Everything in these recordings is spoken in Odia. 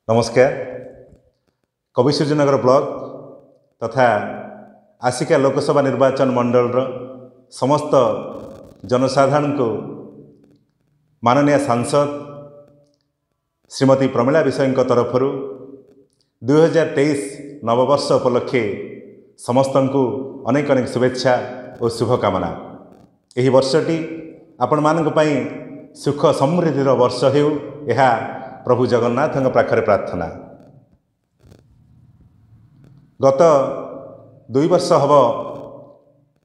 ନମସ୍କାର। କବିସୂର୍ଯ୍ୟନଗର ବ୍ଲକ ତଥା ଆସିକା ଲୋକସଭା ନିର୍ବାଚନ ମଣ୍ଡଳୀର ସମସ୍ତ ଜନସାଧାରଣଙ୍କୁ ମାନନୀୟ ସାଂସଦ ଶ୍ରୀମତୀ ପ୍ରମିଳା ବିଷୟଙ୍କ ତରଫରୁ 2023 ନବବର୍ଷ ଉପଲକ୍ଷେ ସମସ୍ତଙ୍କୁ ଅନେକ ଅନେକ ଶୁଭେଚ୍ଛା ଓ ଶୁଭକାମନା। ଏହି ବର୍ଷଟି ଆପଣମାନଙ୍କ ପାଇଁ ସୁଖ ସମୃଦ୍ଧିର ବର୍ଷ ହେଉ, ଏହା ପ୍ରଭୁ ଜଗନ୍ନାଥଙ୍କ ପାଖରେ ପ୍ରାର୍ଥନା। ଗତ 2 ବର୍ଷ ହେବ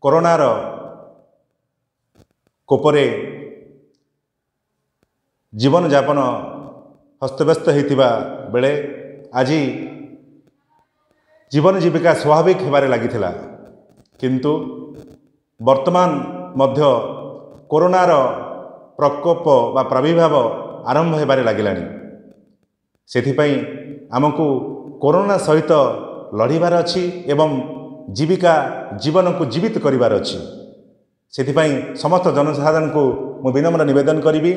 କରୋନାର କୋପରେ ଜୀବନଯାପନ ହସ୍ତବ୍ୟସ୍ତ ହୋଇଥିବା ବେଳେ ଆଜି ଜୀବନ ଜୀବିକା ସ୍ୱାଭାବିକ ହେବାରେ ଲାଗିଥିଲା, କିନ୍ତୁ ବର୍ତ୍ତମାନ ମଧ୍ୟ କରୋନାର ପ୍ରକୋପ ବା ପ୍ରାଦୁର୍ଭାବ ଆରମ୍ଭ ହେବାରେ ଲାଗିଲାଣି। ସେଥିପାଇଁ ଆମକୁ କରୋନା ସହିତ ଲଢ଼ିବାର ଅଛି ଏବଂ ଜୀବିକା ଜୀବନକୁ ଜୀବିତ କରିବାର ଅଛି। ସେଥିପାଇଁ ସମସ୍ତ ଜନସାଧାରଣଙ୍କୁ ମୁଁ ବିନମ୍ର ନିବେଦନ କରିବି,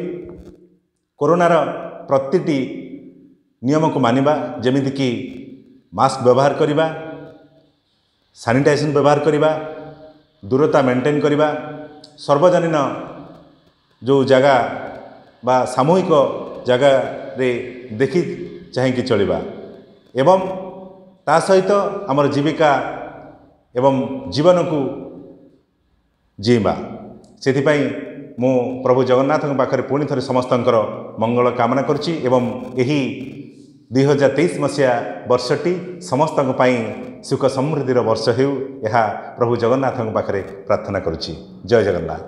କରୋନାର ପ୍ରତିଟି ନିୟମକୁ ମାନିବା, ଯେମିତିକି ମାସ୍କ ବ୍ୟବହାର କରିବା, ସାନିଟାଇଜେସନ୍ ବ୍ୟବହାର କରିବା, ଦୂରତା ମେଣ୍ଟେନ୍ କରିବା, ସର୍ବଜନୀନ ଯେଉଁ ଜାଗା ବା ସାମୂହିକ ଜାଗାରେ ଦେଖି ଚାହିଁକି ଚଳିବା ଏବଂ ତା ସହିତ ଆମର ଜୀବିକା ଏବଂ ଜୀବନକୁ ଜିଇଁବା। ସେଥିପାଇଁ ମୁଁ ପ୍ରଭୁ ଜଗନ୍ନାଥଙ୍କ ପାଖରେ ପୁଣି ଥରେ ସମସ୍ତଙ୍କର ମଙ୍ଗଳ କାମନା କରୁଛି ଏବଂ ଏହି 2023 ମସିହା ବର୍ଷଟି ସମସ୍ତଙ୍କ ପାଇଁ ସୁଖ ସମୃଦ୍ଧିର ବର୍ଷ ହେଉ, ଏହା ପ୍ରଭୁ ଜଗନ୍ନାଥଙ୍କ ପାଖରେ ପ୍ରାର୍ଥନା କରୁଛି। ଜୟ ଜଗନ୍ନାଥ।